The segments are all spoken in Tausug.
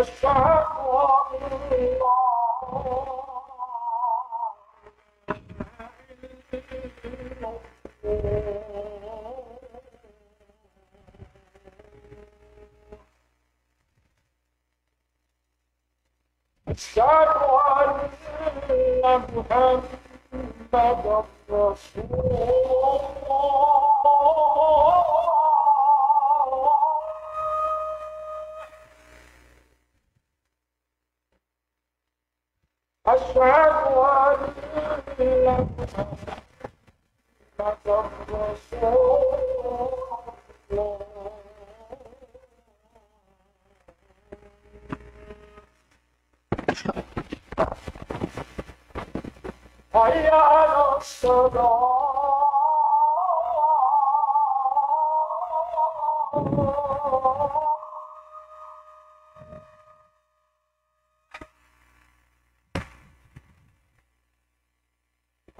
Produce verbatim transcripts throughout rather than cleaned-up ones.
أشهد أن لا إله إلا الله. أشهد أن محمدا رسول الله. أشهد أن محمدا رسول الله. حي على الصلاة.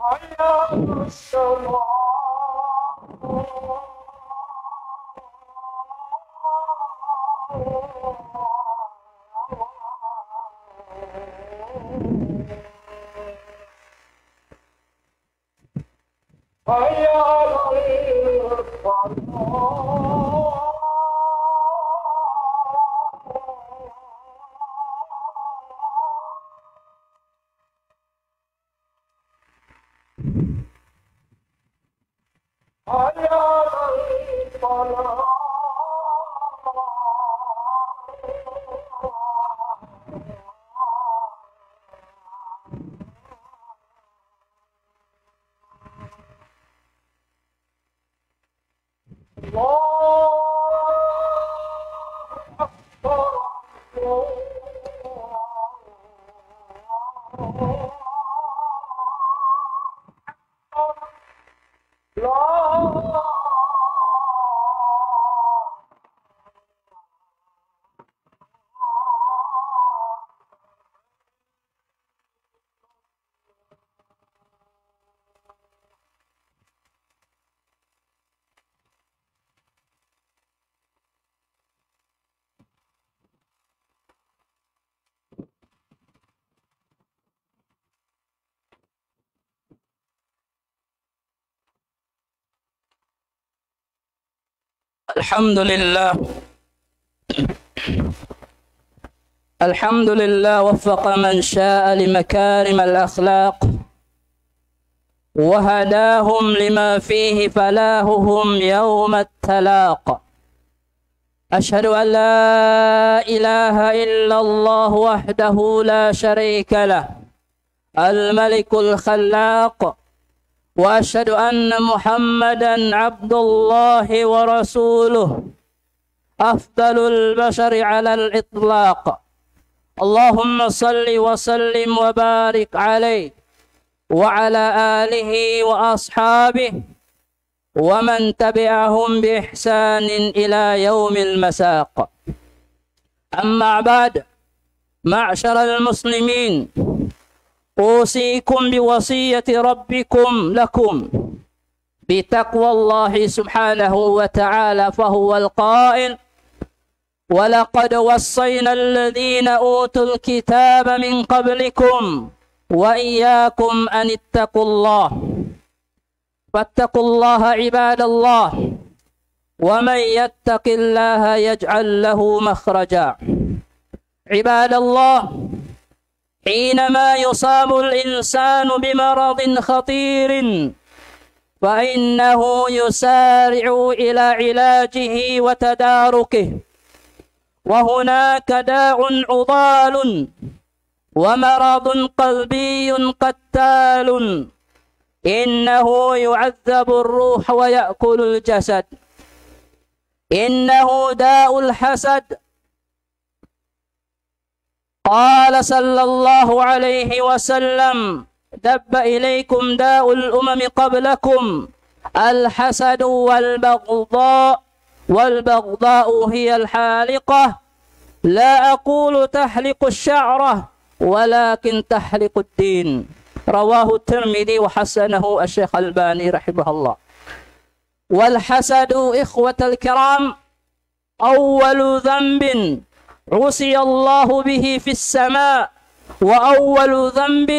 حي على الصلاة. حي على الفلاح. حي على الفلاح. الله أكبر. الله أكبر. لا. الحمد لله. الحمد لله، وفق من شاء لمكارم الأخلاق، وهداهم لما فيه فلاحهم يوم التلاق. أشهد أن لا إله إلا الله وحده لا شريك له، الملك الخلاق، وأشهد أن محمدا عبد الله ورسوله، أفضل البشر على الإطلاق. اللهم صل وسلم وبارك عليه وعلى آله وأصحابه ومن تبعهم بإحسان إلى يوم المساق. أما بعد، معشر المسلمين، أوصيكم بوصية ربكم لكم بتقوى الله سبحانه وتعالى، فهو القائل: ولقد وصينا الذين أوتوا الكتاب من قبلكم وإياكم أن اتقوا الله. فاتقوا الله عباد الله، ومن يتق الله يجعل له مخرجا. عباد الله، حينما يصاب الإنسان بمرض خطير فإنه يسارع إلى علاجه وتداركه، وهناك داء عضال ومرض قلبي قتال، إنه يعذب الروح ويأكل الجسد، إنه داء الحسد. قال صلى الله عليه وسلم: دب إليكم داء الأمم قبلكم، الحسد والبغضاء، والبغضاء هي الحالقة، لا أقول تحلق الشعرة، ولكن تحلق الدين. رواه الترمذي وحسنه الشيخ الألباني رحمه الله. والحسد، إخوة الكرام، أول ذنب عصي الله به في السماء، وأول ذنب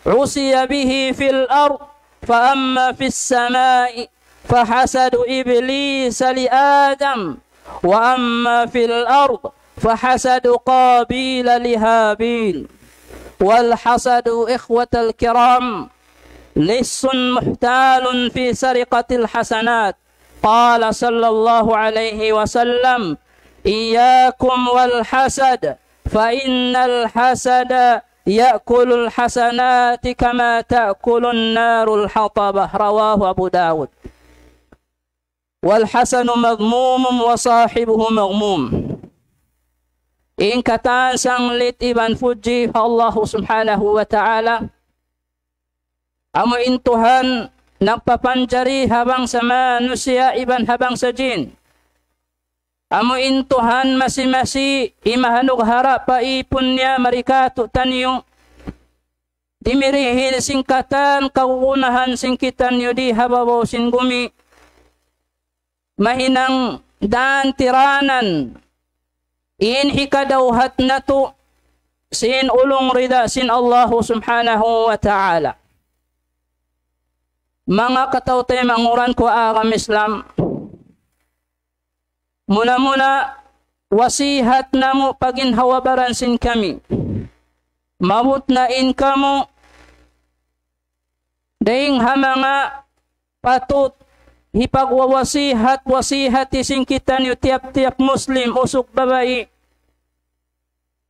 عصي به في الأرض، فأما في السماء فحسد إبليس لآدم، وأما في الأرض فحسد قابيل لهابيل. والحسد، إخوة الكرام، لص محتال في سرقة الحسنات. قال صلى الله عليه وسلم: إياكم والحسد، فإن الحسد يأكل الحسنات كما تأكل النار الحطب. رواه أبو داود. والحسد مذموم وصاحبه مغموم. In katan sanglit iban pudji pa Allah Subhanahu wa Ta'ala, amu in Tuhan nagpapanjari ha bangsa manusiya' iban ha bangsa jin. Amu in Tuhan masi-masi imahanug harap pa ipun niya mari kātu'niyu. Dimirihil sin katan kagunahan sin kitaniyu di ha babaw sin gumi. Mahinang dan tiranan in hikadawhat natu' sin ulung rida sin Allahu Subhanahu wa Ta'ala. Manga kataw-taymanghuran ku ha agama Islam, muna-muna wasihat namu' pa ginhawa-baran sin kami. Maabut na in kamu dayn ha manga patut hipagwawasihat-wasihati sin kitaniyu tiyap-tiyap Muslim usug babai.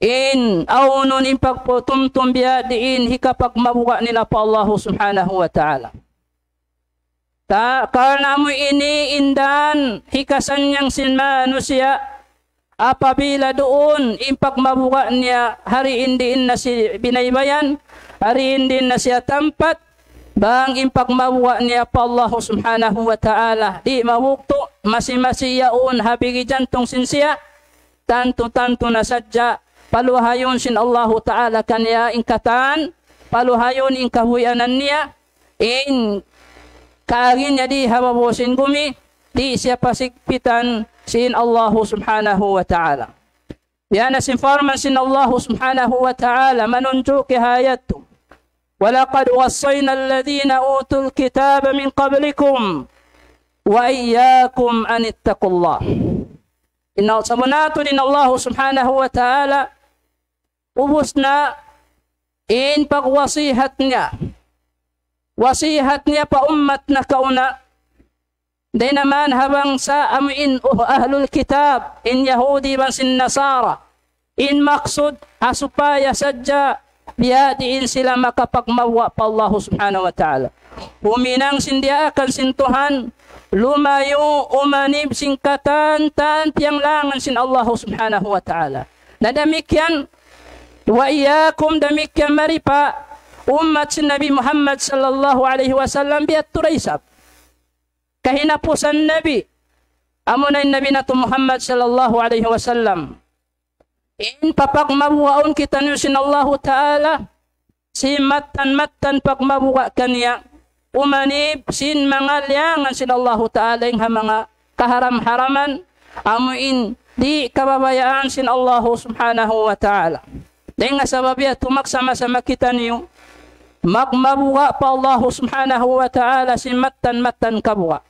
In awnun in pagputumtum biya' diin hikapagmabuga' nila pa Allahu Subhanahu wa Ta'ala. Ta-, karna' amu ini in dan hikasannyang sin manusiya', apabila duun in pagmabuga' niya, hari in diin na siya binaybayan, hari in diin na siya tampat, bang in pagmabuga' niya pa Allahu Subhanahu wa Ta'ala, di' mabugtu', masi-masi yaun ha bigi jantung sin siya, tantu-tantu na sadja, paluhayun sin Allahu Ta'ala kaniya in katan, paluhayun in kahuyanan niya, in kaagi niya di ha babaw sin gumi, di' siya pasigpitan sin Allahu Subhanahu wa Ta'ala. Yan na sin parman sin Allahu Subhanahu wa Ta'ala, manunjuki ha ayat tu. وَلَقَدْ وَصَّيْنَا الَّذِينَ أُوتُوا الْكِتَابَ مِنْ قَبْلِكُمْ وَإِيَّاكُمْ أَنِ اتَّقُوا اللَّهَ. Inna sabunnal tuud in Allahu Subhanahu wa Ta'ala, ubus na in pagwasihat niya. Wasihat niya pa ummat nakauna. Dayn ha manga bangsa amu in, uh, ahlul kitab, in Yahudi iban sin Nasara. In maksud, ha supaya sadja biya' diin sila makapagmabuga' pa Allahu Subhanahu wa Ta'ala. Huminang sin diyaakan sin Tuhan, lumayu' umanib sin katan-katan piyanglangan sin Allahu Subhanahu wa Ta'ala. Na damikkiyan, وَإِيَّاكُمْ, damikkiyan mari pa ummat sin Nabi Muhammad sallallahu alayhi wasallam biya' tuud isab. Kahinapusan Nabi, amuna in Nabi natu' Muhammad sallallahu alayhi wasallam. In papagmabugaun kitaniyu sin Allahu Ta'ala, sin mattan-mattan pagmabuga' kaniya, umanib sin manga liyangan sin Allahu Ta'ala in ha manga kaharam-haraman, amu in di' kababayaan sin Allahu Subhanahu wa Ta'ala. Dayn ha sabab yadtu magsama-sama kitaniyu, magmabuga' pa Allahu Subhanahu wa Ta'ala sin mattan-mattan kabuga'.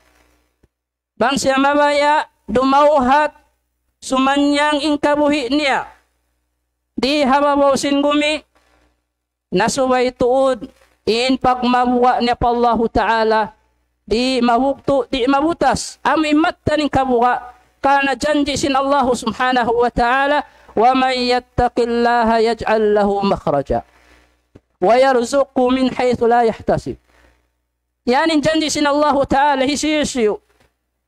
Bang siya mabaya', dumawhat, sumannyang in kabuhi' niya di ha babaw sin gumi, na subay tuud in pagmabuga' niya pa Allahu Ta'ala, di' mabugtu', di' mabutas, amu in mattan in kabuga', karna' janji' sin Allahu Subhanahu wa Ta'ala, وَمَن يَتَّقِ اللَّهَ يَجْعَل لَّهُ مَخْرَجًا وَيَرْزُقْهُ مِنْ حَيْثُ لَا يَحْتَسِبُ. Yan in janji' sin Allahu Ta'ala, hisiyu-siyu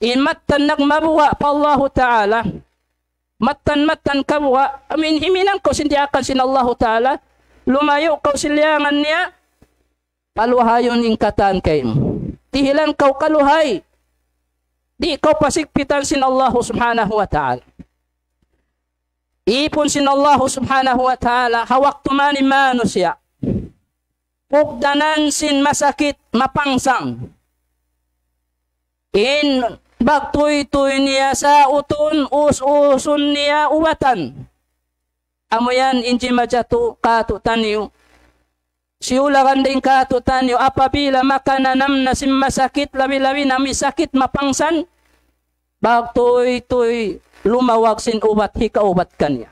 in mattan nagmabuga' pa Allahu Ta'ala, mattan-mattan kabuga', amu in himinang kaw sin diyaakan sin Allahu Ta'ala, lumayu' kaw sin liyangan niya, paluhayun in katan kaymu. Dihilan kaw kaluhay, di' kaw pasigpitan sin Allahu Subhanahu wa Ta'ala. Ipun sin Allahu Subhanahu wa Ta'ala, ha waktu man in manusiya' pugdanan sin masakit mapangsang. In bagtuy-tuy niya sautun, us-usun niya ubatan. Amu yan in jimatu katu'taniyu. Siyulagan dayn katu'taniyu apabila makananam na sin masakit, labi-labi na amu in sakit mapangsan. Pagtūy-tūy lumawag sin ubat hikaubat kaniya.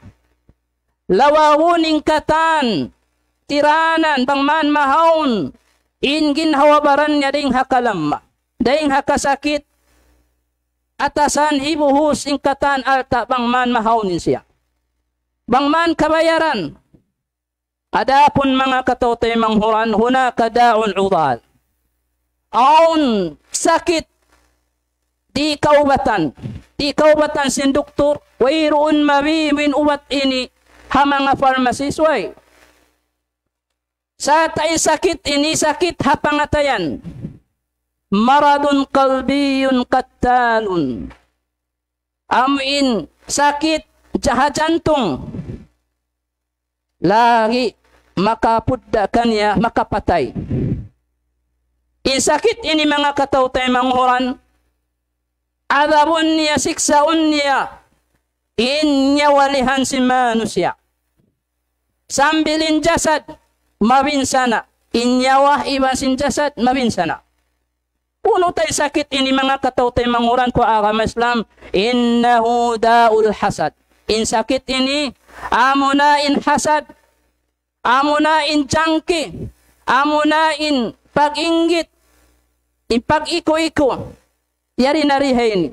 Lawagun in katan, tiranan, bang man mahaun, in ginhawa-baran niya dayn ha kalamma, dayn ha kasakit, atasan hibuhus in katan alta' bang man mahaun in siya. Bang man kabayaran, adapun manga kataw-taymanghuran, hunaka da'un udal. Awn sakit di' kaubatan. Di' kaubatan sin duktur, wayruun mabibi in ubat ini ha manga pharmacies, way. Sarta' in sakit ini sakit ha pangatayan. Maradun qalbiyun qattalun. Amu in sakit jaha jantung. Lagi' makapudda' kaniya, makapatay. In sakit ini manga kataw-taymanghuran, adabun niya, siksaun niya, in nyawa lihan sin manusiya'. Sambil in jasad mabinsana', in nyawa iban sin jasad mabinsana'. Unu ta in sakit ini manga kataw-taymanghuran ku agama Islam, innahu da'ul hasad. In sakit ini, amuna in hasad, amuna in jangki, amuna in pag-inggit, in pag-iku-iku. Yari na rihay ini.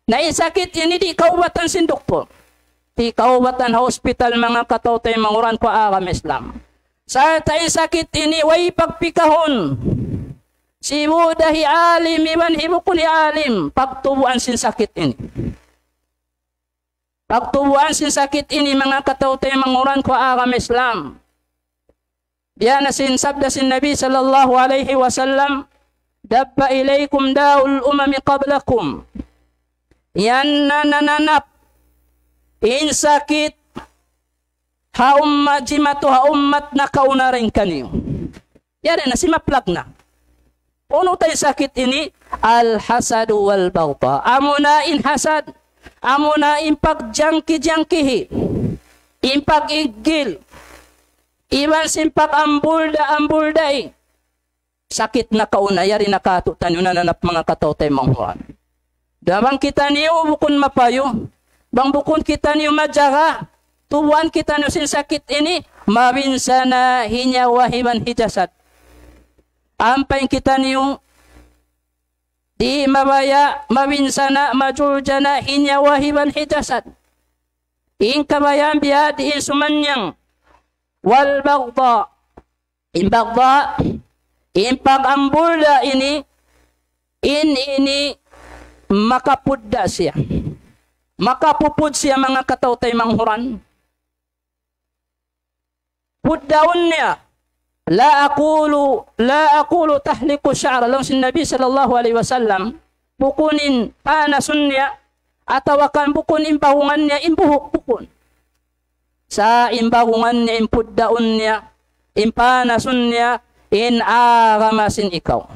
Na in sakit ini di' kaubatan sin duktur. Di' kaubatan ha hospital manga kataw-taymanghuran ku agama Islam. Sarta' in sakit ini way pagpikahun. Sibu' da hi alim iban hi bukun hi alim. Pagtubuan sin sakit ini. Pagtubuan sin sakit ini manga kataw-taymanghuran ku agama Islam. Biya' na sin sabda sin Nabi sallallahu alayhi wasallam, دب إليكم داء الأمم قبلكم. Yan na nananap in sakit ha ummat, jimatu ha ummat nakauna dayn kaniyu. Yari na simaplag na. Unu ta in sakit ini, الحسد والبغضاء. Amuna in hasad, amuna in pagjangki-jangkihi, in pag-iggil, iban sin pag-ambulda-ambulda'i. Sakit nakauna, yari na katu'taniyu nananap manga kataw-taymanghuran. Da bang kitaniyu bukun mapayu, bang bukun kitaniyu majaga, tubuan kitaniyu sin sakit ini, mabinsana' hi nyawa iban hi jasad. Ampa in kitaniyu, di' mabaya', mabinsana', majuljana' hi nyawa iban hi jasad. In kabayaan biya' diin sumannang. والبغضاء. In bagda', in pag-ambulda' ini, in ini makapudda' siya. Makapupud siya manga kataw-taymanghuran. Puddaun niya. لا أقول، لا أقول تحلق الشعر. Laung sin Nabi sallallahu alayhi wasallam, bukun in panasun niya, atawa kan bukun in bahungan niya, in buhuk, bukun. Sa' in bahungan niya, in puddaun niya, in panasun niya, in agama sin ikaw.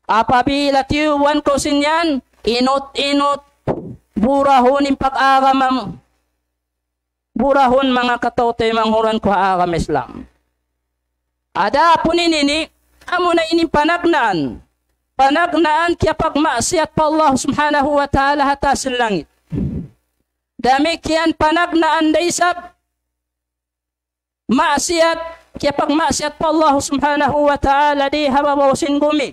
Apabila tiyubuan kaw sin yan, inut-inut, burahun in pag-agama mu. Burahun manga kataw-taymanghuran ku ha agama Islam. Adapun ini ini, amuna ini panagnaan. Panagnaan kiyapagmaksiyat pa Allah Subhanahu wa Ta'ala ha taas sin langit. Damikkiyan panagnaan da isab maksiyat, kiyapagmaksiyat pa Allah Subhanahu wa Ta'ala di ha babaw sin gumi.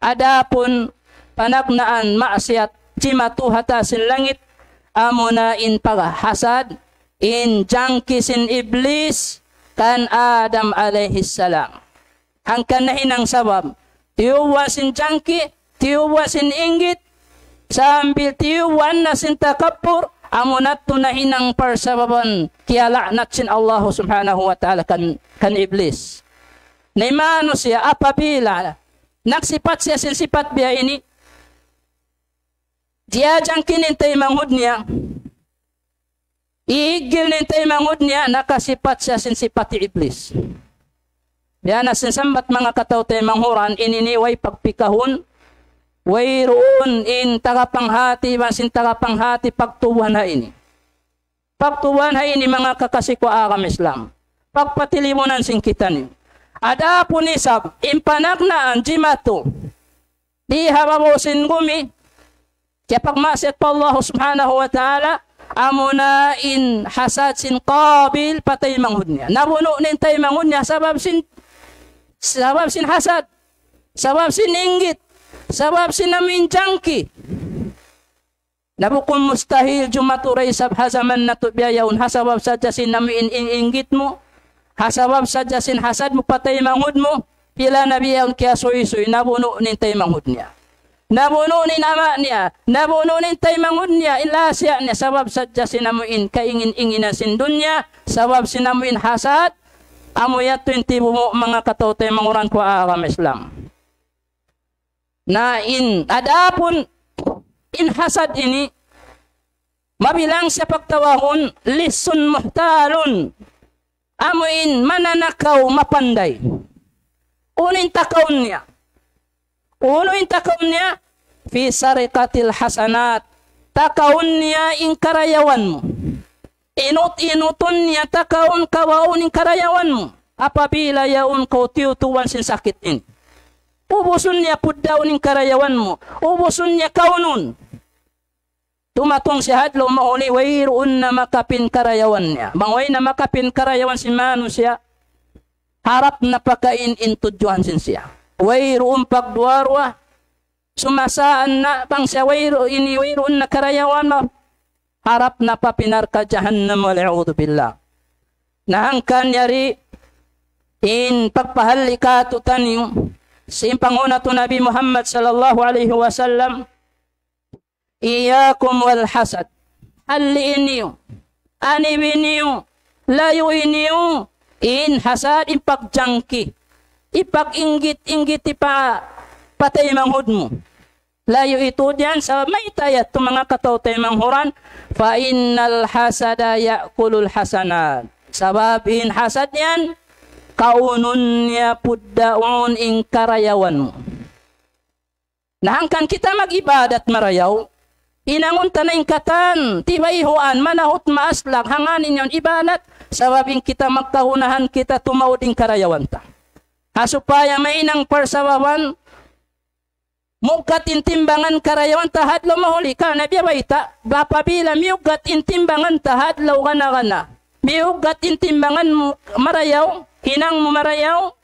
Adapun panagnaan maksiyat jimatu ha taas sin langit, amuna in paghasad, in jangki sin Iblis kan Adam alayhi salam. Hangkan nahinang sabab, tiyubuan sin jangki, tiyubuan sin inggit, sambil tiyubuan na sin takabbur, amuna tuud nahinang parsababan kiyala'nat sin Allah Subhanahu wa Ta'ala kan, kan Iblis. Na in manusiya' apabila nagsipat siya sin sipat biya' ini, diyajangki niya in taymanghud niya, iiggil niya in taymanghud niya, nakasipat siya sin sipat hi Iblis. Biya' na sin sambat manga kataw-taymanghuran, ini ini way pagpikahun, wayruun in tagapanghati, iban sin tagapanghati pagtubuhan ha ini. Pagtuwan ha ini manga kakasi ku agama Islam. Pagpatilibunan sin kitaniyu. Adapun isab, in panagnaan jimatu. Di ha babaw sin gumi. Kiyapagmaksiyat pa Allah subhanahu wa ta'ala, amuna in hasad sin Qabil pa taymanghud niya. Nabunu' niya in taymanghud niya, sabab sin, sabab sin hasad, sabab sin inggit, sabab sin amuin jangki. Na bukun mustahil jumatu da isab ha jaman natu' biya' yaun, ha sabab sadja sin amuin in-, inggit mu, ha sabab sadja sin hasad mu pa taymanghud mu, pila na biya' yaun kiyasuysuy, nabunu' niya in taymanghud niya. Nabunu' niya in ama' niya, nabunu' niya in taymanghud niya, in lasa niya, sabab sadja sin amuin kaingin-inginan sin dunya, sabab sin amuin hasad, amu yadtu in tibu' mu manga kataw-taymanghuran ku agama Islam. Na in adapun in hasad ini, mabilang siya pagtawagun, lissun muhtalun. Amu in mananakaw mapanday. Unu in takaun niya? Unu in takaun niya? Fi sariqatil hasanat. Takaun niya in karayawan mu. Inut-inutun niya takaun kawaun in karayawan mu. Apabila yaun kaw tiyutuwan sin sakit ini. Ubusun niya puddaun in karayawan mu. Ubusun niya kaunun. Tumatung siya ha adlaw mahuli, wayruun na makapin karayawan niya. Bang way na makapin karayawan sin manusiya', harap na pakain in tudjuhan sin siya. Wayruun pagduwa-ruwa, sumasaan na bang siya wayru-, ini wayruun na karayawan, harap na pa narka' jahannam, wal iyadhu billah. Na hangkan yari in pagpahalli' kātu'niyu, sin panghu' natu' Nabi Muhammad sallallahu alayhi wasallam, iyyakum wal hasad. Halli'i niyu, anibi niyu, layui niyu, in hasad, in pagjangki, in pag-inggit-inggit pa, pa taymanghud mu. Layui tuud yan, sabab mayta' yadtu manga kataw-taymanghuran, fa innal hasada ya'kulul hasanat. Sabab in hasad yan, kaunun niya puddaun in karayawan mu. Na hangkan kita mag-ibadat marayaw, hinangun ta na in katan, tibayhuan, manahut maaslag, hangkan in yaun ibadat, sabab in kita magkagunahan kita tumaud in karayawan ta. Ha supaya mahinang parsababan, muggat in timbangan karayawan ta ha adlaw mahuli, karna' biya' bayta', apabila miyuggat in timbangan ta ha adlaw gana-gana, miyuggat in timbangan mu marayaw, hinang mu marayaw,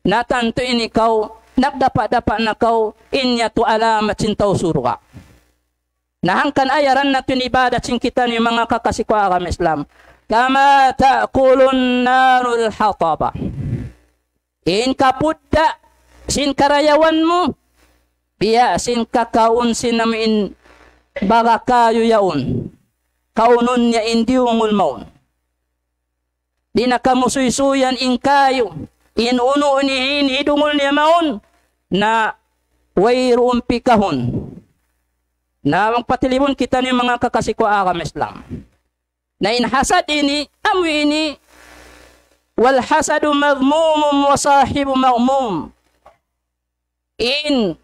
na tantu in ikaw, nagdapa'-dapa' na kaw, in yadtu alamat sin tau surga'. Na hangkan ayaran natu' in ibadat sin kitaniyu manga kakasi ku agama Islam. Kama ta'kulun narul hataba. In kapudda' sin karayawan mu, biya' sin kakaun sin amuin baga kayu yaun. Kaunun niya in diyungul mawn. Di' na kamu suysuyan in kayu, in unu ini, in hidungul niya mawn, na wayruun pikahun. Na magpatilibun kitaniyu manga kakasi ku agama Islam. Na in hasad ini, amu ini, wal hasadu madhmumun wa sahibu madhmum. In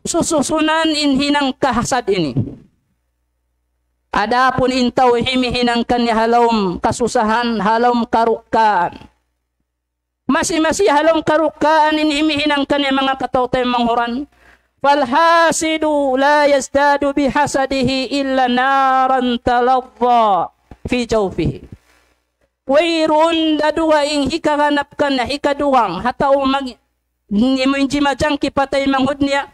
sususunan in hinang kahasad ini. Adapun in tau himihinang kaniya ha lawm kasusahan, ha lawm karukkaan. Masi-masi ha lawm karukkaan in himihinang kaniya manga kataw-taymanghuran. فالحاسد لا يزداد بحسده إلا نارا تلظى في جوفه. Wayruun da dugaing hikaganap kaniya, hikadugang, ha tau mag-, ini mu in jimajangki pa taymanghud niya.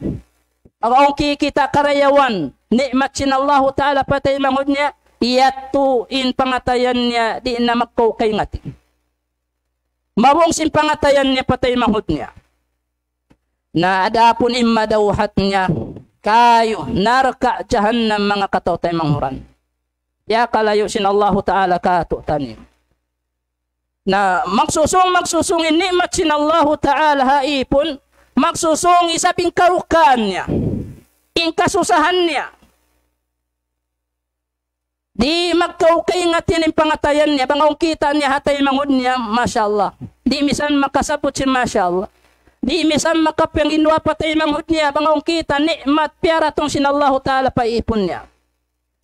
Awn kikita' karayawan, ni'mat sin Allahu Ta'ala pa taymanghud niya, yadtu in pangatayan niya, di' na magkaw kaingati. Mabung sin pangatayan niya pa taymanghud niya. Na adapun in madawhat niya, kayu, narka' jahannam manga kataw-taymanghuran. Piyakalayu' sin Allahu Ta'ala kātu'niyu. Na magsusung, magsusung in ni'mat sin Allahu Ta'ala ha ipun, magsusung isab in karukkaan niya, in kasusahan niya. Di' magkaw kaingati in pangatayan niya, bang awn kita' niya ha taymanghud niya, masha Allah. Di' misan makasabbut sin masha Allah. Di' misan makapanginduwaa pa taymanghud niya, bang awn kita' ni'mat piyaratung sin Allahu Ta'ala pa ipun niya.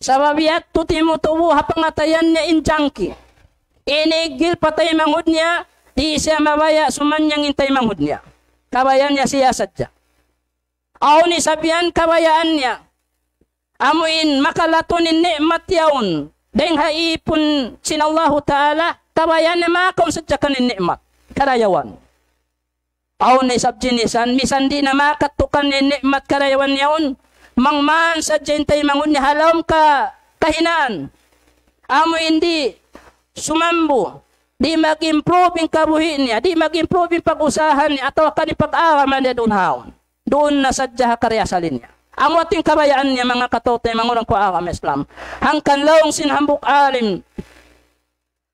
Sabab yadtu timutubu ha pangatayan niya in jangki. Ini iggil pa taymanghud niya, di' siya mabaya' sumanyang in taymanghud niya. Kabayaan niya siya sadja. Awn isab yan kabayaan niya. Amu in makalatun in ni'mat yaun. Dayng ha ipun sin Allahu Ta'ala, kabayaan niya makaun sadja kan in ni'mat. Karayawan. Awn isab jinisan, misan di' na makatukan in ni'mat karayawan yaun. Mangman sadja in taymanghud niya ha lawm ka, kahinaan. Amu in di' sumambu, di' mag-improve in kabuhi' niya, di' mag-improve in pag-usaha niya, atawa kan in pag-agama niya duun haun. Duun na sadja ha kariasali niya. Amu yadtu in kabayaan niya, manga kataw-taymanghuran ku ha agama Islam. Hangkan laung sin hambuuk alim.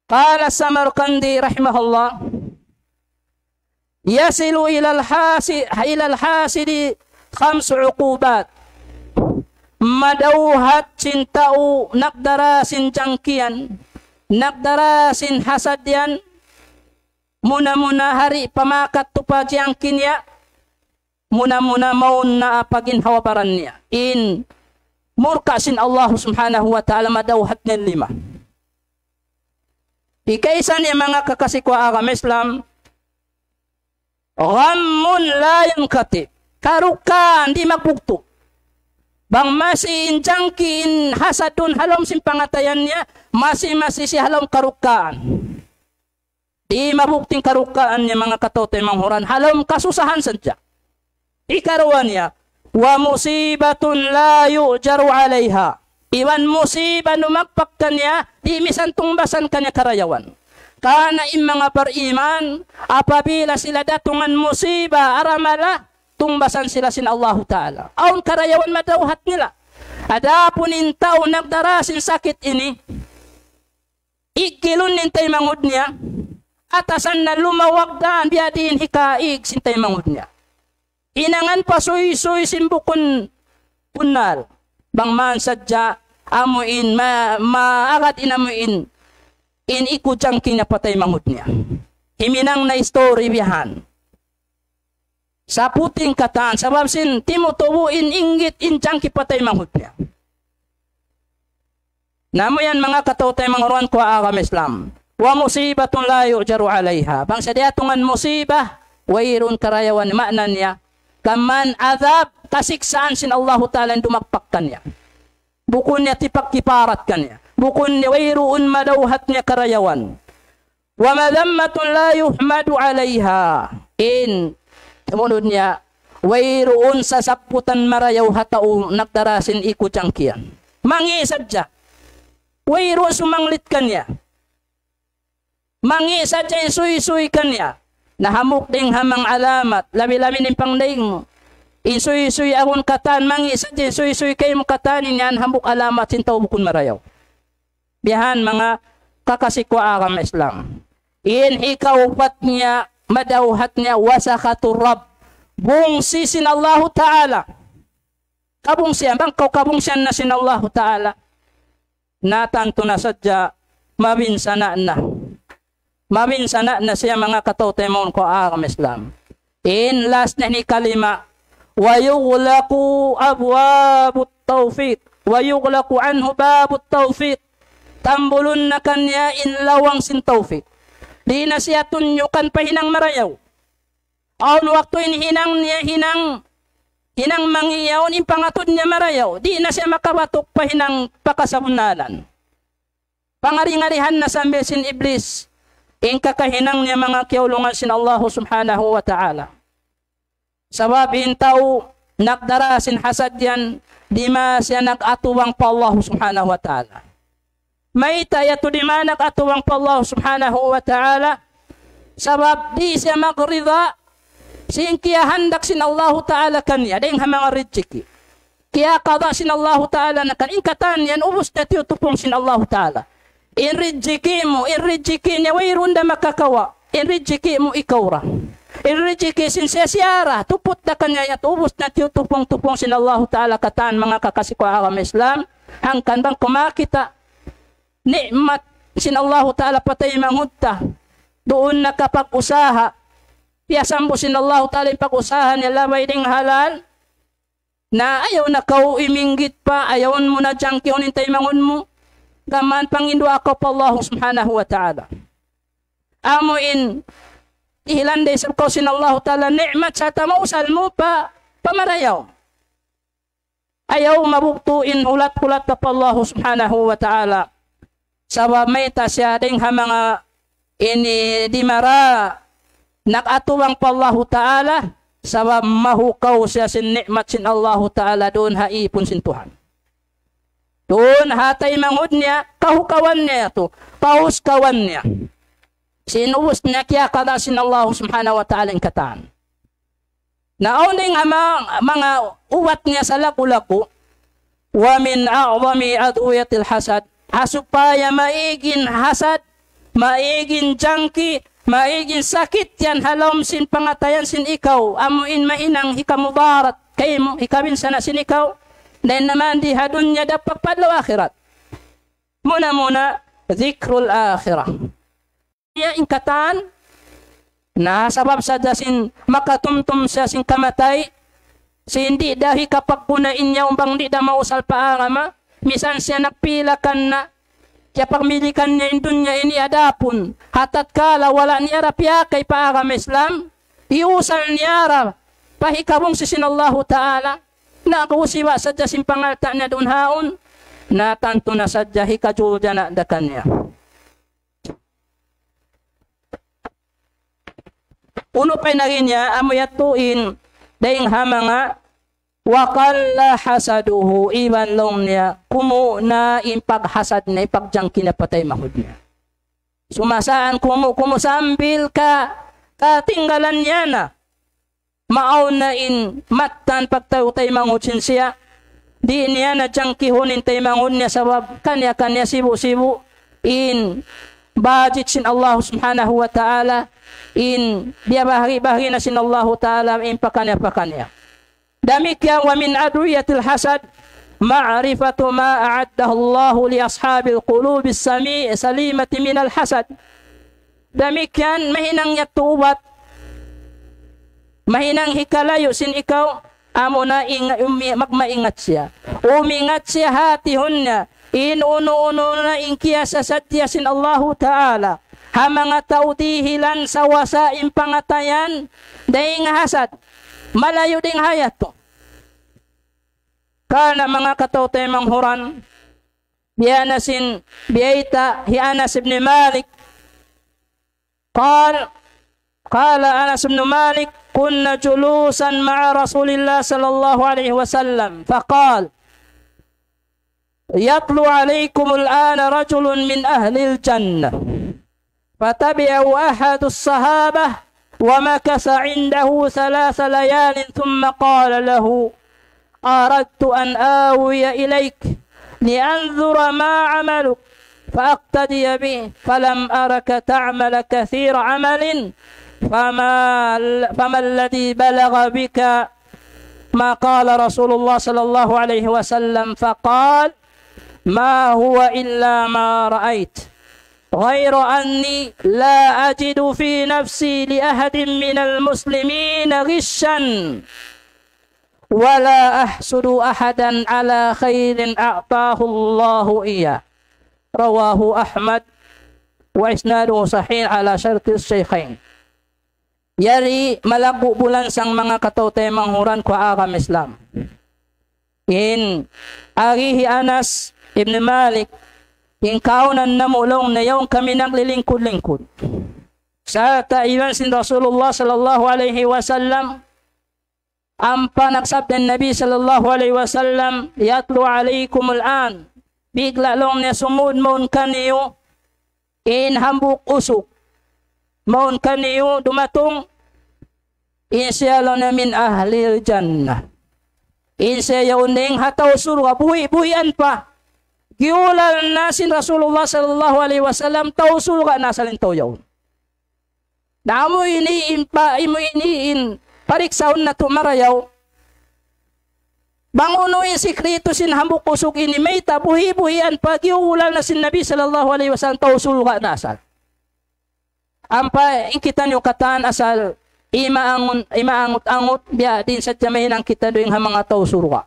قال السمرقندي رحمه الله: يصل إلى الحاس-، إلى الحاسد خمس عقوبات. Madawhat sin tau nagdara sin jangki yan, nagdara sin hasad yan, muna-muna ha di' pa makatupa jangki niya, muna-muna mawn na pa ginhawa-baran niya. In murka sin Allah Subhanahu wa Ta'ala madawhat niya lima. Hikaisa niya, manga kakasi ku ha agama Islam, غم لا ينقطع. Karukkaan di' magbugtu'. Bang masi in jangki in hasadun ha lawm sin pangatayan niya, masi-masi siya ha lawm karukkaan. Di' mabugtu' in karukkaan niya, manga kataw-taymanghuran, ha lawm kasusahan sadja. Hikaruwa niya, ومصيبة لا يؤجر عليها. Iban musiba dumagpak kaniya, di' misan tungbasan kaniya karayawan. Karna' in manga bariman, apabila sila datungan musiba, aramala, tungbasan sila sin Allahu Ta'ala. Awn karayawan madawhat nila. Adapun in tau nagdara sin sakit ini, iggilun in taymanghud niya, atasan na lumawag daan biya' diin hikaig sin taymanghud niya. Hinangan pasuysuy sin bukun bunnal. Bang man sadja amu in ma-, maagad in amu in, in iku jangki niya pa taymanghud niya. Himinang na istori biya' han. Saputing katan, sabab sin timutubu in inggit in jangki pa taymanghud niya. Na amu yan, manga kataw-taymanghuran ku ha agama Islam. ومصيبة لا يؤجر عليها. Bang sa diyatungan musiba, wayruun karayawan, maana niya, kaman adab, kasiksaan sin Allahu Ta'ala in dumagpak kaniya. Bukun niya tipagkiparat kaniya. Bukun niya wayruun madawhat niya karayawan. ومذمة لا يحمد عليها. In, sumunud niya, wayruun sasabbutan marayaw ha tau nagdara sin iku jangki yan. Mangi' sadja. Wayruun sumanglit kaniya. Mangi' sadja in suysuy kaniya. Na hambuuk dayn ha manga alamat, labi-labi in pangdayn mu. In suysuy agun katan, mangi' sadja in suysuy kaymu katan, in yan hambuuk alamat sin tau bukun marayaw. Biya' han, manga kakasi ku ha agama Islam. In hikaupat niya, madawhat niya, وسخط الرب. Bungsi sin Allahu Ta'ala. Kabungsihan, bang kaw kabungsihan na sin Allahu Ta'ala, na tantu na sadja, mabinsana' na. Mabinsana' na siya, manga kataw-taymanghuran ku ha agama Islam. In last na ini kalima, ويغلق أبواب التوفيق، ويغلق عنه باب التوفيق. Tambulun na kaniya in lawang sin tawfik. Di' na siya tunyukan pa hinang marayaw. Awn waktu in hinang niya hinang, hinang mangi' yaun, in pangatud niya marayaw. Di' na siya makabatuk pa hinang pa kasabunnalan. Pangari-ngarihan na sambil sin Iblis in kakahinang niya, manga kiyaulungan sin Allahu Subhanahu wa Ta'ala. Sabab in tau nagdara sin hasad yan, di' ma siya nag-atubang pa Allahu Subhanahu wa Ta'ala. Mayta' yadtu di' ma nag-atubang pa Allahu Subhanahu wa Ta'ala? Sabab di' siya magrida sin kiyahandak sin Allahu Ta'ala kaniya, dayn ha manga rijiki. Kiyakada sin Allahu Ta'ala na kan in katan yan, ubus na tiyutupung sin Allahu Ta'ala. In rijiki mu, in rijiki niya, wayruun da makakawa'. In rijiki mu ikaw ra. In rijiki sin siya, siya ra, tuput da kaniya yadtu, ubus na tiyutupung-tupung sin Allahu Ta'ala katan, manga kakasi ku ha agama Islam. Hangkan bang kaw makakita' ni'mat sin Allahu Ta'ala pa taymanghud ta. Duun na kapag-usaha. Piyasambu sin Allahu Ta'ala in pag-usaha niya labay dayn ha halal. Na ayaw na kaw iminggit pa, ayaw mu na jangkihun in taymanghud mu. Gām panghindu' kaw pa Allah subhanahu wa ta'ala. Amu in dihilan da isab kaw sin Allah ta'ala ni'mat sarta' mausal mu pa, pa marayaw. Ayaw mabugtu' in hulat-hulat ta pa Allah subhanahu wa ta'ala. Sabab mayta' siya dayn ha manga ini dimara nag-atubang pa Allah ta'ala, sabab mahukaw siya sin ni'mat sin Allah ta'ala duun ha īpun sin Tuhan. Duun ha taymanghud niya, kahukawan niya tu, paus kawan niya. Sin ubus niya kiyakada sin Allah subhanahu wa ta'ala in katan. Na awn dayn ha ma-, manga ubat niya sa laku-laku, ومن أعظم أدوية الحسد, ha supaya maig in hasad, maig in jangki, maig in sakit yan ha lawm sin pangatayan sin ikaw, amu in mahinang hikamudarat kaymu, hikabinsana' sin ikaw, dayn ha mandi ha dunya dappak pa adlaw akhirat. Muna-muna, ذكر الآخرة. Niya in katan, na sabab sadja sin makatumtum siya sin kamatay, sin di' da hikapagguna in yaun bang di' da mausal pa agama, misan siya nagpila kan na, kiyapagmilikan niya in dunya ini adapun, ha tatkala wala' niya da piyakay pa agama Islam, iyusal niya da pa hikabungsi sin Allahu Ta'ala, na kusiba sadja sin pangalta' niya duun haun, na tantu na sadja hikajuljana' da kaniya. Unu pa in agi niya, amu yadtu in dayn ha manga وقل حسده, iban laung niya, kumu' na in paghasad niya, in pagjangki niya pa taymanghud niya. Sumasaan kumu', kumu' sambil ka, katinggalan niya na. Maawn na in mattan pagtayu' taymanghud sin siya. Di' niya na jangkihun in taymanghud niya sabab kaniya-kaniya sibu'-sibu' in budget sin Allah subhanahu wa ta'ala, in biyabahagi-bahagi na sin Allah ta'ala in pakaniya-pakaniya. Damikkiyan ومن أدوية الحسد معرفة ما أعده الله لأصحاب القلوب السمي-، السليمة من الحسد. Damikkiyan mahinang yadtu ubat, mahinang hikalayu' sin ikaw, amuna ing-, umi-, magmaingat siya. Umingat siya ha hatihun niya, in unu-unu na in kiyasasadja sin Allahu Ta'ala ha manga tau dihilan sawasa in pangatayan, dayn ha hasad, malayu' dayn ha yadtu. Karna' manga kataw-taymanghuran, biya' na sin biyayta' hi Anas ibn Malik, قال، قال أنس بن مالك: كنا جلوسا مع رسول الله صلى الله عليه وسلم فقال: يطلع عليكم الآن رجل من أهل الجنة. فتبعه أحد الصحابة ومكث عنده ثلاث ليال ثم قال له: أردت أن آوي إليك لأنظر ما عملك، فأقتدي به، فلم أرك تعمل كثير عمل، فما، فما الذي بلغ بك ما قال رسول الله صلى الله عليه وسلم؟ فقال: ما هو إلا ما رأيت، غير أني لا أجد في نفسي لأحد من المسلمين غشا، ولا أحسد أحدا على خير أعطاه الله إياه. رواه أحمد، وإسناده صحيح على شرط الشيخين. Yari malaggu' bulansang manga kataw-taymanghuran ku ha agama Islam. In agi hi Anas ibn Malik, in kaunan namu' laung niya yaun kami naglilingkud-lingkud. Sarta' iban sin Rasulullah sallallahu alayhi wasallam, ampa nagsabda in Nabi sallallahu alayhi wasallam, يطلع عليكم الآن. Bigla' laung niya sumud mawn kaniyu in hambuuk usug. Mawn kaniyu dumatung in siya laung niya من أهل الجنة. In siya yaun dayn ha tau surga', buhi'-buhian pa. Giyulal na sin Rasulullah sallallahu alayhi wasallam, tau surga' na asal in tau yaun. Na amu ini in pa-, amu ini in pariksaun natu' marayaw. Bang unu in sikritu sin hambuuk usug ini, mayta' buhi'-buhian pa giyulal na sin Nabi sallallahu alayhi wasallam tau surga' na asal. Ampa in kitaniyu katan asal imaangun-, imaangut-angut, biya' diin sadja mahinang kita duun ha manga tau surga'.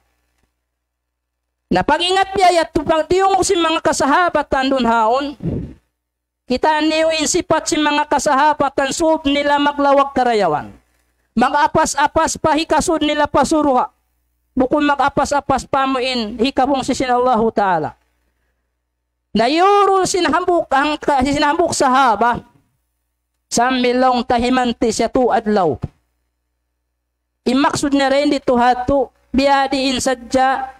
Na pag-ingat biya' yadtu, pagdiyungug sin manga kasahabatan duun haun, kitaa niyu in sipat sin manga kasahabatan, sūb nila maglawag karayawan. Mag-apas-apas pa hikasūd nila pa surga'. Bukun mag-apas-apas pa amu in hikabungsi sin Allahu Ta'ala. Na iyurul sin hambuuk, hangka-, sin hambuuk sahaba, sambil laung ta himanti' siya tū adlaw. In maksud niya dayn didtu ha tū, biya' diin sadja,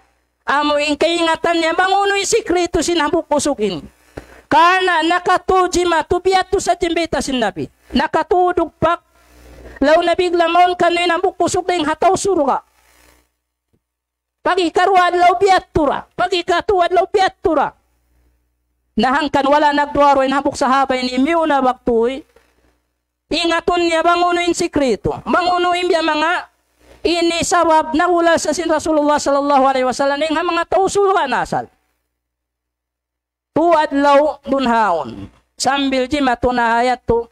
amu in kaingatan niya bang unu in sikritu sin hambuuk usug ini. Karna' nakatū jimatu biya' tu sadja in bayta' sin Nabi. Nakatū dugpak, laung Nabi, bang mawn kaniyu in hambuuk usug dayn ha tau surga'. Pag hikaruwa adlaw biya' tu ra. Pag hikatū adlaw biya' tu ra. Na hangkan wala' nagduwa-ruwa in hambuuk sahaba ini miyuna waktu, ingatun niya bang unu in sikritu. Bang unu in biya' manga ini sabab nagulal sa sin Rasulullah sallallahu alayhi wasallam dayn ha manga tau surga' na asal. Tū adlaw duun haun. Sambil jimatu na ha yadtu.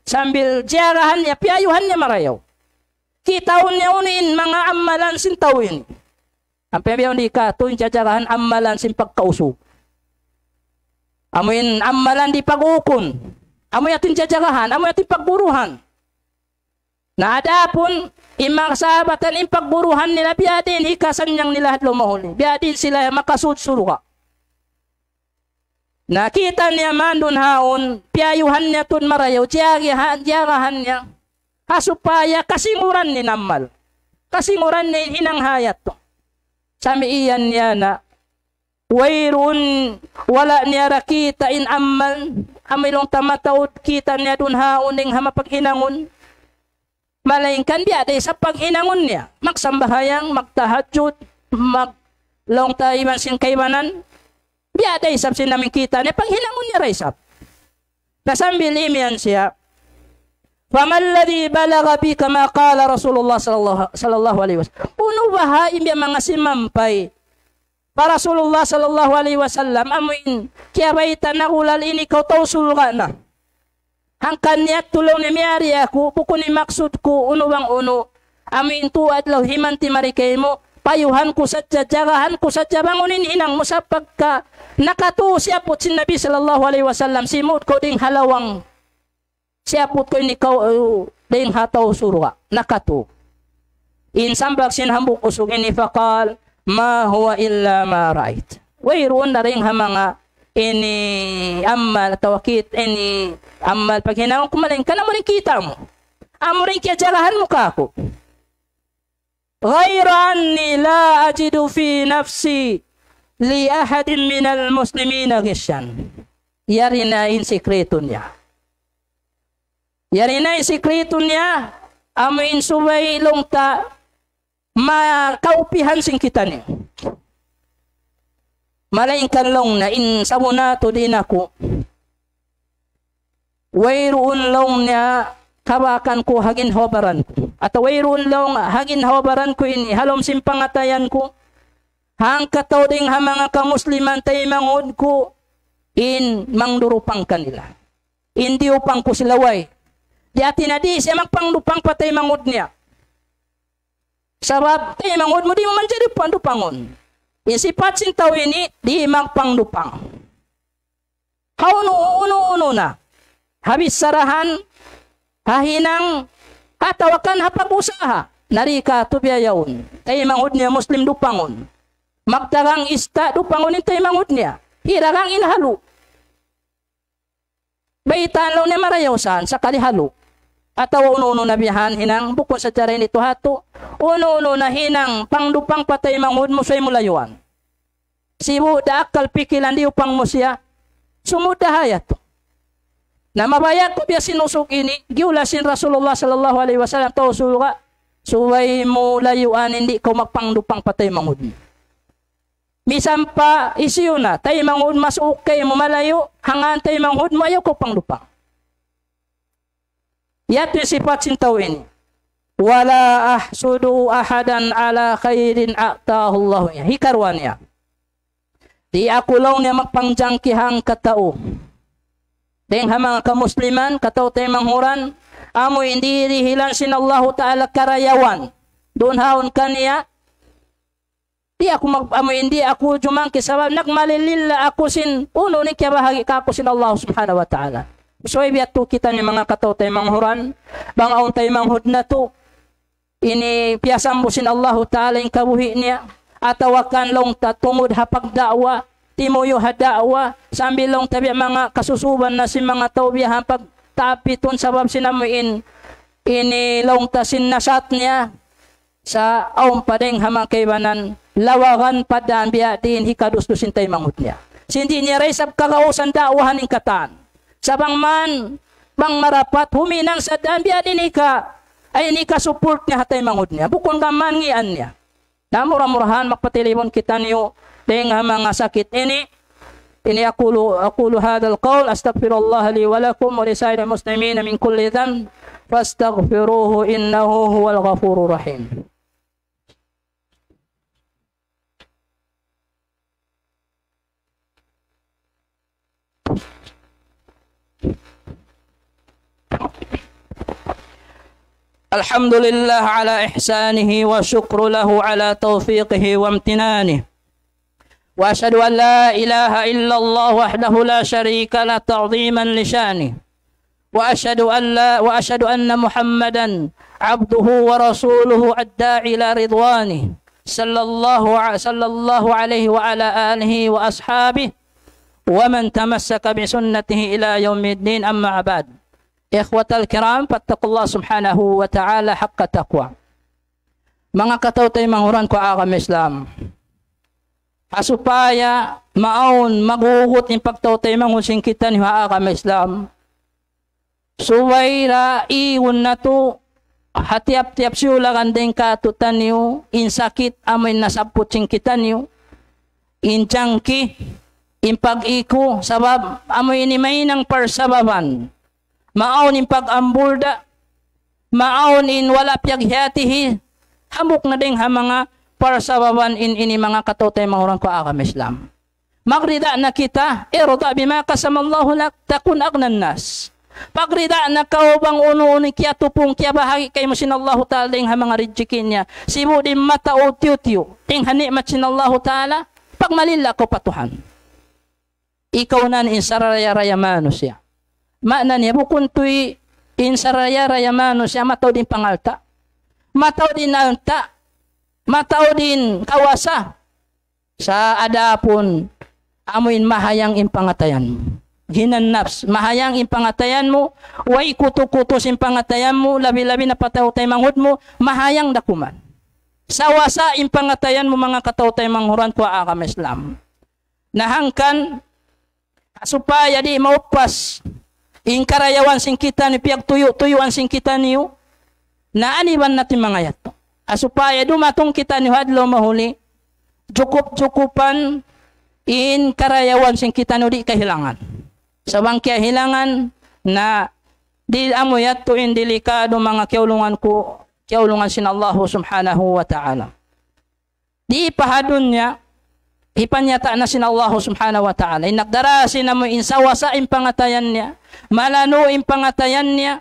Sambil jiyagahan niya, piyayuhan niya marayaw. Kitaun niya unu in manga amalan sin tau ini. Ampa biya' yaun di' katu' in jajagahan amalan sin pagkausug. Amu in amalan di' pag-ukun. Amu yadtu in jajagahan, amu yadtu in pagguruhan. Na adapun in manga kasahabatan, in pagguruhan nila biya' diin hikasannyang nila ha adlaw mahuli. Biya' diin sila makasūd surga'. Na kita' niya man duun haun, piyayuhan niya tuud marayaw, jiyagahan, jiyagahan niya. Ha supaya kasinguran niya in amal. Kasinguran niya in hinang ha yadtu. Samiyan niya na, wayruun, wala' niya da kita' in amal, amu in laung ta mataud kita' niya duun haun dayn ha mapaghinangun. Malaingkan biya' da isab paghinangun niya. Magsambahayang, magtahajjud, mag-, laung ta iban sin kaibanan. Biya' da isab sin amu in kita' niya, paghinangun niya da isab. Na sambil imiyan siya, فما الذي بلغ بك ما قال رسول الله صلى الله، صلى الله عليه وسلم. Unu baha' in biya' manga simampay pa Rasulullah sallallahu alayhi wasallam, amu in kiyabayta' nagulal in ikaw tau surga' na. Hangkan niya tuud laung niya miyari aku, bukun in maksud ku unu bang unu, amu in tū adlaw himanti' mari kaymu, payuhan ku sadja, jagahan ku sadja bang unu in hinang mu sa pagka nakatū siyabbut sin Nabi sallallahu alayhi wasallam, simud kaw dayn ha lawang. Siyabbut kaw in ikaw, uh, dayn ha tau surga', nakatū. In sambag sin hambuuk usug ini, فقال: ما هو إلا ما رأيت. Wayruun dayn ha manga ini amal atawa kit-, ini amal paghinangun ku malaingkan amu in kita' mu. Amu in kiyajagahan mu kāku'. غير أني لا أجد في نفسي لأحد من المسلمين غشا. Yari na in sikritu niya. Yari na in sikritu niya, amu in subay laung ta makaupihan sin kitaniyu. Malaingkan laung niya in sabunatu diin aku. Wayruun laung niya kabakan ku ha ginhawa-baran ku. Atawa wayruun laung ha ginhawa-baran ku ini, ha lawm sin pangatayan ku. Hangkatau dayn ha manga kamusliman taymanghud ku in mangdurupang kanila. In diyupang ku sila way. Di' hati niya di' siya magpangdupang pa taymanghud niya. Sabab taymanghud mu di' mu manjari pangdupangun. In sipat sin tau ini di' magpangdupang. Ha unu, unu-unu na. Ha bissarahan, ha hinang, atawa kan ha pag-usaha. Na di' katu' biya' yaun. Taymanghud niya Muslim dupangun. Magdagang ista' dupangun in taymanghud niya. Hiragang in halu'. Baytaan laung niya marayaw san, sakali halu'. Atawa unu-unu na biya' han hinang, bukun sadja dayn didtu ha yadtu. Unu-unu na hinang, pangdupang pa taymanghud mu, subay mu layuan. Sibu' da akkal pikilan diyupang mu siya. Sumud da ha yadtu. Na mabaya' ku biya' sin usug ini, giyulal sin Rasulullah sallallahu alayhi wasallam tau surga', subay mu layuan in di' kaw magpangdupang pa taymanghud mu. Misan pa hisiyu na, taymanghud mu, masuuk kaymu malayu', hangkan taymanghud mu ayaw kaw pangdupang. Yadtu in sipat sin tau ini. ولا أحسد أحدا على خير آتاه الله إياه. Hikaruwa niya. Di' aku laung niya magpangjangki hangkatau. Dayn ha manga kamusliman, katau taymanghud, amu in dihilan sin Allahu Ta'ala karayawan. Duun haun kaniya, di' aku mag-, amu in di' aku jumangki sabab nagmalililla aku sin unu in kiyabahagi' kāku' sin Allah Subhanahu wa Ta'ala. Subay biya' tu kita ini manga kataw-taymanghuran, bang awn taymanghud natu', ini piyasambu sin Allahu Ta'ala in kabuhi' niya, atawa kan laung ta tungud ha pagda'wa, timuyu' ha da'wa, sambil laung ta biya' manga kasusuban na sin manga tau biya' ha pagtapitun sabab sin amu in, ini laung ta sin nasat niya, sa' awn pa dayng ha manga kaibanan, lawagan pa daan biya' diin hikadusdus sin taymanghud niya. Sin di' niya da isab kagausan da'wahan in katan. Sa' bang man, bang marapat, huminang sa' daan biya' diin hika, ay in hika-support niya ha taymanghud niya. Bukun ka man ngian niya. Na mura-murahan magpatilibun kitaniyu dayng ha manga sakit ini. Ini أقول، أقول هذا القول، أستغفر الله لي ولكم ولسائر المسلمين من كل ذنب، فاستغفروه إنه هو الغفور الرحيم. الحمد لله على إحسانه، وشكر له على توفيقه وامتنانه. وأشهد أن لا إله إلا الله وحده لا شريك له تعظيما لشأنه. وأشهد أن لا، وأشهد أن محمدا عبده ورسوله الداعي إلى رضوانه، صلى الله ع-، صلى الله عليه وعلى آله وأصحابه ومن تمسك بسنته إلى يوم الدين، أما بعد. إخوة الكرام، فاتقوا الله سبحانه وتعالى حق تقوى. Manga kataw-taymanghuran ku ha agama Islam. Ha supaya maawn magugut in pagtaw-taymanghud sin kitaniyu ha agama Islam. Subay da igun natu' ha tiyap-tiyap siyulagan dayng kātu'niyu, in sakit amu in nasabbut sin kitaniyu, in jangki, in pag-iku, sabab amu ini mahinang parsababan. Maawn in pag-ambul da, maawn in wala' piyaghiyatihi, hambuuk na dayng ha manga parsababan in ini manga kataw-taymanghuran ku ha agama Islam. Magrida na kita, ارض بما قسم الله لك تكن أغنى الناس. Pagrida na kaw bang unu-unu in kiyatupung, kiyabahagi' kaymu sin Allahu Ta'ala dayng ha manga rijiki niya. Sibu' di' mataud tiyu'-tiyu' dayng ha ni'mat sin Allahu Ta'ala, pagmalilla kaw pa Tuhan. Ikaw na in saraya-raya manusiya'. Maana niya bukun tuud in saraya-raya manusiya' mataud in pangalta'. Mataud in alta'. Mataud in kawasa. Sa' adapun amu in mahayang in pangatayan mu. Ghinan nafs, mahayang in pangatayan mu, way kutu-kutu sin pangatayan mu, labi-labi na pa taw-taymanghud mu, mahayang da kuman. Sawasa in pangatayan mu manga kataw-taymanghud ku ha agama Islam. Na hangkan, ha supaya di' maupas in karayawan sin kitaniyu, piyagtuyu'-tuyuan sin kitaniyu, na aniban natu' in manga yadtu. Ha supaya dumatung kitaniyu ha adlaw mahuli, jukup-jukupan in karayawan sin kitaniyu di' kahilangan. Sa' bang kiyahilangan, na di' amu yadtu in delikadu manga kiyaulungan ku, kiyaulungan sin Allahu Subhanahu wa Ta'ala. Di' pa ha dunya, hipanyata' na sin Allahu Subhanahu wa Ta'ala. In nagdara sin amu in sawasa in pangatayan niya, malanu' in pangatayan niya,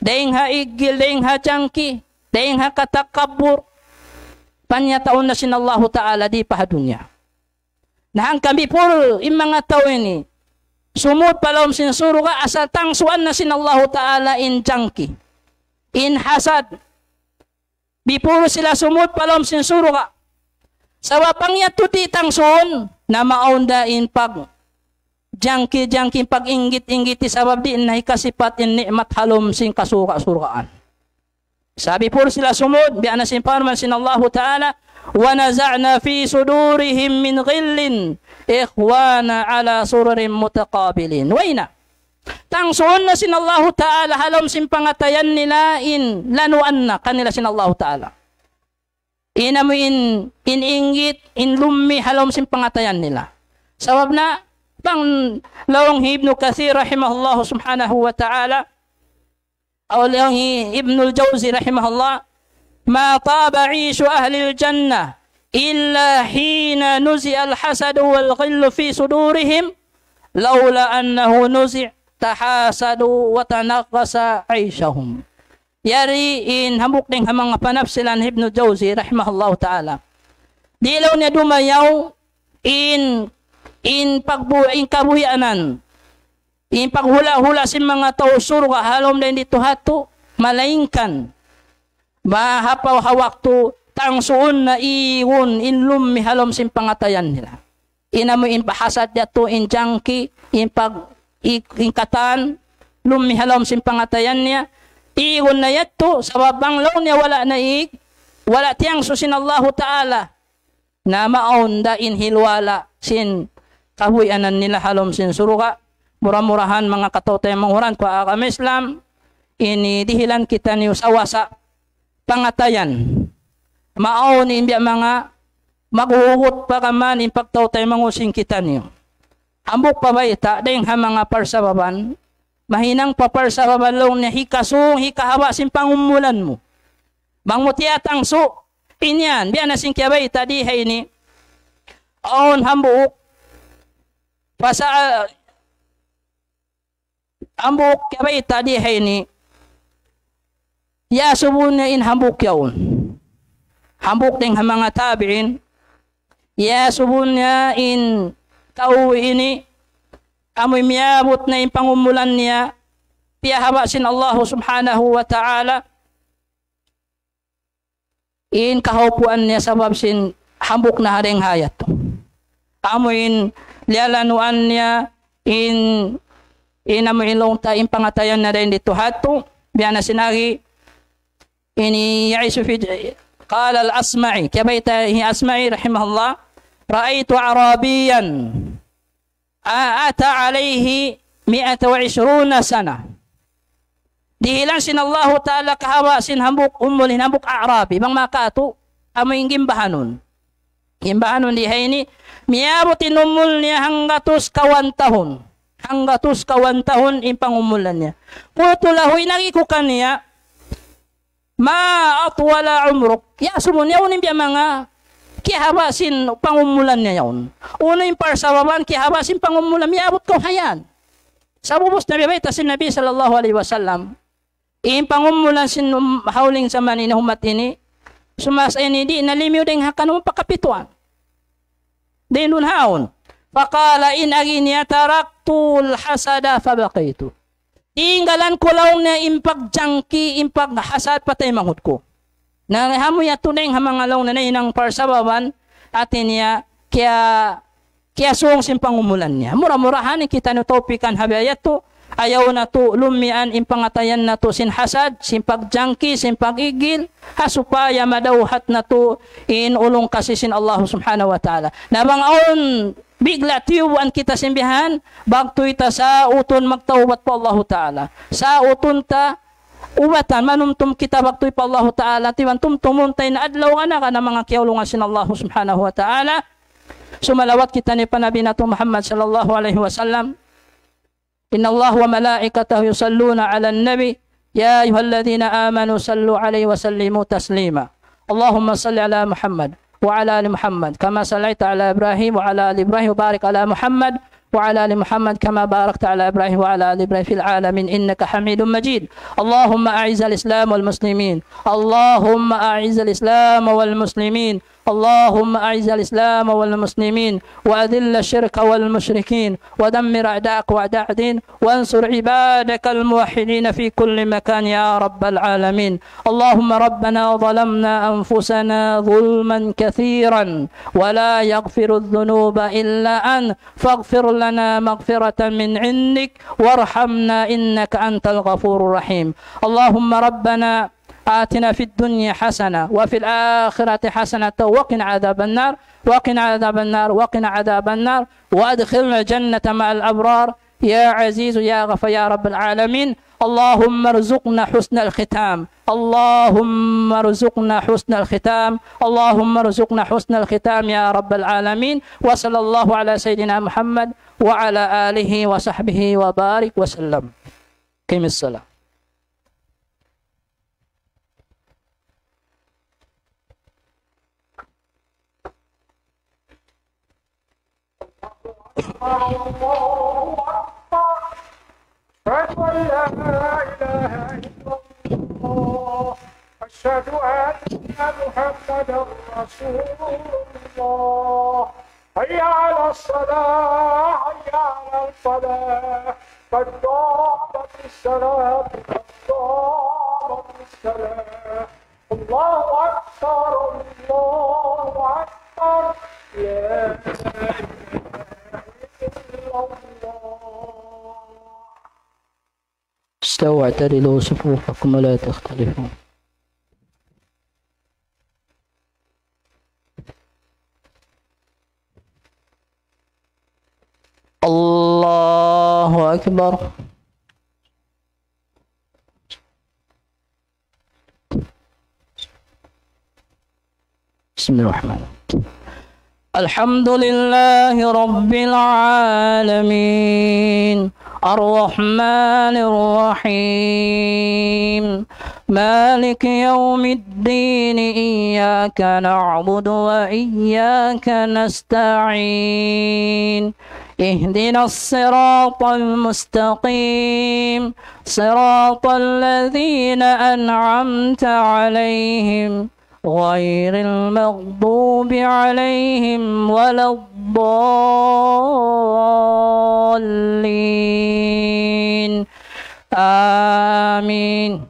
dayng ha iggil, dayng ha jangki, dayng ha katakabbur, panyataun na sin Allahu Ta'ala di' pa ha dunya. Na hangkan before in manga tau ini sumud pa lawm sin surga', asal tangsuan na sin Allahu Ta'ala in jangki, in hasad, before sila sumud pa lawm sin surga'. Sabab bang yadtu di' tangsuun, na maawn da in pagjangki-jangki, pag-inggit-inggiti, sabab di' na hikasipat in ni'mat ha lawm sin kasurga'-surgaan. Sa' before sila sumud, biya' na sin parman sin Allahu Ta'ala, ونزعنا في صدورهم من غل إخوانا على سرر متقابلين. Way na. Tangsuun na sin Allahu Ta'ala ha lawm sin pangatayan nila in lanuan na kanila sin Allahu Ta'ala. In amu in, in inggit, in lummi' ha lawm sin pangatayan nila. Sabab na, bang laung hi Ibnu Kathir rahimahullahu subhanahu wa ta'ala, aw laung hi Ibnul Jawzi rahimahullah, ما طاب عيش أهل الجنة إلا حين نزع الحسد والغل في صدورهم، لولا أنه نزع تحاسدوا وتنغص عيشهم. Yari in hambuuk dayn ha manga panafsiran Ibnu Jawzi rahimahullahu ta'ala. Di' laung niya dumayaw in, in pagbu-, in kabuhianan, in paghula'-hula' sin manga tau surga' ha lawm dayn didtu ha yadtu, malaingkan mahapaw ha waktu tangsuun na igun in lummi' ha lawm sin pangatayan nila. In amu in bahasat yadtu, in jangki, in pag-, i-, in katan, lummi' ha lawm sin pangatayan niya, igun na yadtu, sabab bang laung niya wala' na ig-, wala' tiyangsu sin Allahu Ta'ala, na maawn da in hilwala' sin kabuhianan nila ha lawm sin surga'. Mura-murahan manga kataw-taymanghuran ku ha agama Islam, ini dihilan kitaniyu sawasa pangatayan. Maawn in biya' manga maghuhugut pa kaman in pagtaw-taymanghu sin kitaniyu. Hambuuk pa bayta', dayn ha manga parsababan, mahinang pa parsababan laung niya hikasung, hikahaba' sin pangumulan mu. Bang mu tiyatangsu, in yan, biya' na sin kiyabayta' di ha ini. Awn hambuuk, pasa-, hambuuk kiyabayta' di ha ini. Iyasubu niya in hambuuk yaun. Hambuuk dayn ha manga tabi'in. Iyasubu niya in tau ini, amuin miyabut na in pangumulan niya, piyahaba' sin Allahu Subhanahu wa Ta'ala in kahaupuan niya sabab sin hambuuk na ha dayn ha yadtu. Amuin liyalanuan niya in, in amuin laung ta in pangatayan niya dayn didtu ha yadtu, biya' na sin agi, ini يعيش في ج-، قال الأصمعي, kiyabayta' hi Asma'i rahimahullah, رأيت أعرابيا أتى عليه مائة وعشرون سنة. Dihilan sin Allahu Ta'ala kahaba' sin hambuuk umul in hambuuk A'rabi, bang makatu, amu in gimbahanun. Gimbahanun di ha ini, miyabut in umul niya hanggatus kawan tahun. Hanggatus kawan tahun in pangumulan niya. قلت له, in agi ku kaniya, ما أطول عمرك. Iyasubu niya, unu in biya' manga kiyahaba' sin pangumulan niya yaun. Unu in parsababan kiyahaba' sin pangumulan, miyabut kaw ha yan. Sabab ubus na biya' bayta' sin Nabi sallallahu alayhi wasallam. In pangumulan sin um-, hawling jaman ini ha ummat ini, sumasa ini di' na limiyu dayn ha kanum pa kapituan. Dayn duun ha yaun. فقال, in agi niya, تركت الحسد فبقيت. Tinggalan ku laung niya in pagjangki, in paghasad pa taymanghud ku. Na amu yadtu dayn ha manga laung niya nahinang parsababan, hati niya, kiya-, kiyasung sin pangumulan niya. Mura-murahan in kitaniyu tawpikan ha biya' yadtu, ayaw natu' lummian in pangatayan natu' sin hasad, sin pagjangki, sin pag-igil, ha supaya madawhat natu' in ulung kasi sin Allah Subhanahu wa Ta'ala. Na bang awn bigla' tiyubuan kita sin bihan, bagtuy ta sautun magtawbat pa Allahu Ta'ala. Sautun ta ubatan, manumtum kita bagtuy pa Allahu Ta'ala, tiban tumtumun ta in adlaw nganakan manga kiyaulungan sin Allahu Subhanahu wa Ta'ala. Sumalawat kita ini pa Nabi natu' Muhammad sallallahu alayhi wasallam. إن الله وملائكته يصلون على النبي، يا أيها الذين آمنوا صلوا عليه وسلموا تسليما. اللهم صل على محمد وعلى آل محمد كما صليت على إبراهيم وعلى آل إبراهيم، وبارك على محمد وعلى آل محمد كما باركت على إبراهيم وعلى آل إبراهيم في العالمين إنك حميد مجيد. اللهم أعز الإسلام والمسلمين. اللهم أعز الإسلام والمسلمين. اللهم أعز الإسلام والمسلمين، وأذل الشرك والمشركين، ودمر أعداءك وأعداء الدين، وانصر عبادك الموحدين في كل مكان يا رب العالمين. اللهم ربنا ظلمنا أنفسنا ظلما كثيرا ولا يغفر الذنوب إلا أنت، فاغفر لنا مغفرة من عندك وارحمنا إنك أنت الغفور الرحيم. اللهم ربنا آتنا في الدنيا حسنة وفي الآخرة حسنة وقنا عذاب النار، وقنا عذاب النار، وقنا عذاب النار، وأدخلنا الجنة مع الأبرار، يا عزيز يا غفار يا رب العالمين. اللهم ارزقنا حسن الختام، اللهم ارزقنا حسن الختام، اللهم ارزقنا حسن الختام يا رب العالمين. وصلى الله على سيدنا محمد وعلى آله وصحبه وبارك وسلم. قم الصلاة. الله أكبر. أشهد أن لا إله إلا الله. أشهد أن محمدا رسول الله. حي على الصلاة، حي على الفلاح، قد قامت الصلاة، قد قامت الصلاة. الله أكبر، الله أكبر، لا إله إلا الله. استووا واعتدلوا صفوفكم ولا تختلفوا. الله أكبر. بسم الله الرحمن الرحيم. الحمد لله رب العالمين. الرحمن الرحيم. مالك يوم الدين. إياك نعبد وإياك نستعين. اهدنا الصراط المستقيم. صراط الذين أنعمت عليهم غير المغضوب عليهم ولا الضالين. آمين.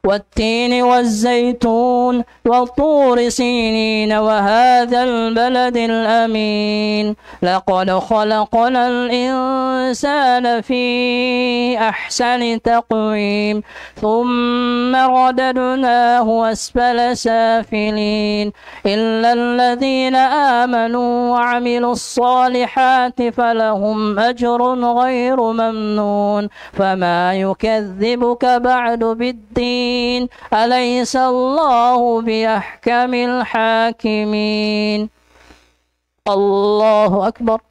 والتين والزيتون وطور سينين وهذا البلد الأمين. لقد خلقنا الإنسان في أحسن تقويم. ثم رددناه أسفل سافلين. إلا الذين آمنوا وعملوا الصالحات فلهم أجر غير ممنون. فما يكذبك بعد بالدين. أليس الله بأحكم الحاكمين. الله أكبر.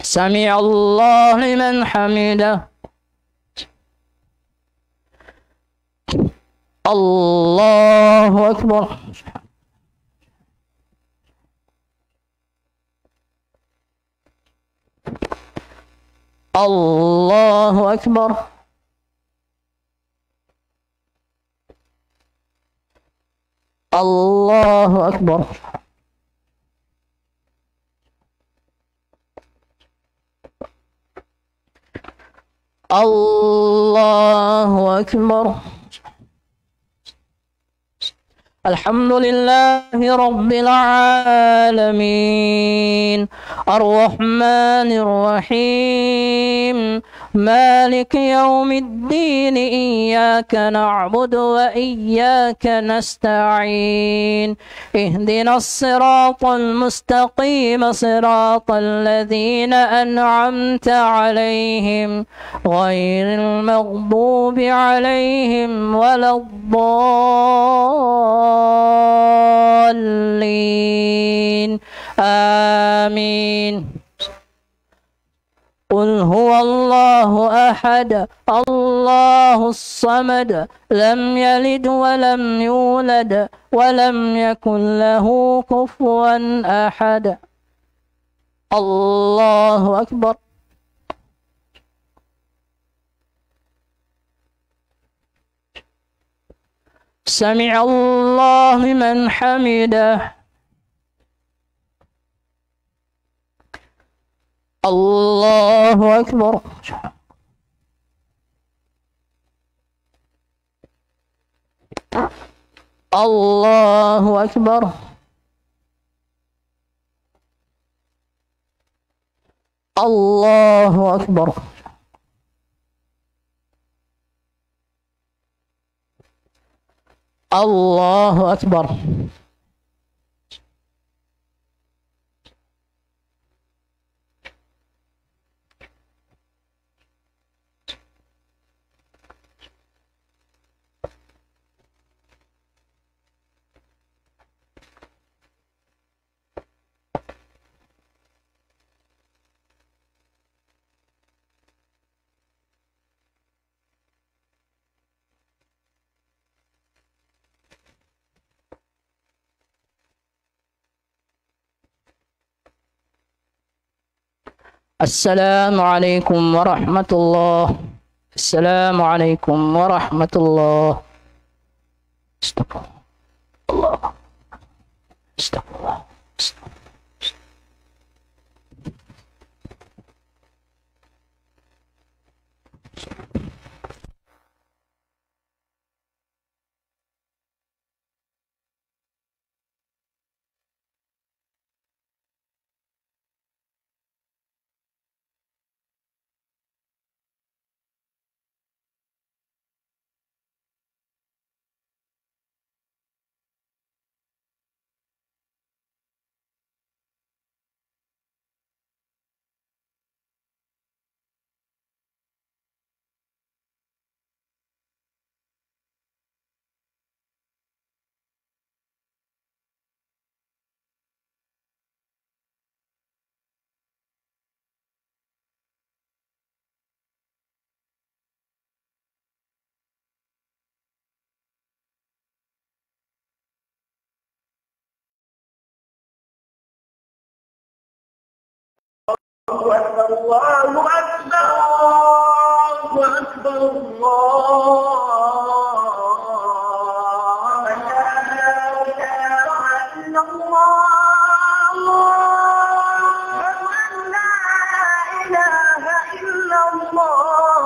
سمع الله لمن حمده. الله أكبر. الله أكبر. الله أكبر. الله أكبر. الحمد لله رب العالمين. الرحمن الرحيم. مالك يوم الدين. إياك نعبد وإياك نستعين. اهدنا الصراط المستقيم، صراط الذين أنعمت عليهم، غير المغضوب عليهم ولا الضالين. آمين. قل هو الله أحد، الله الصمد، لم يلد ولم يولد، ولم يكن له كفوا أحد. الله أكبر. سمع الله لمن حمده. الله أكبر. الله أكبر. الله أكبر. الله أكبر. السلام عليكم ورحمة الله. السلام عليكم ورحمة الله. استغفر الله. استغفر الله. الله أكبر، الله أكبر، الله أكبر، الله أكبر. لا إله إلا الله. أشهد أن لا إله إلا الله.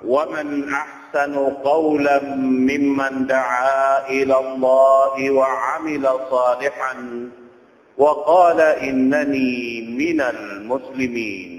ومن أحسن قولا ممن دعا إلى الله وعمل صالحا وقال إنني من المسلمين.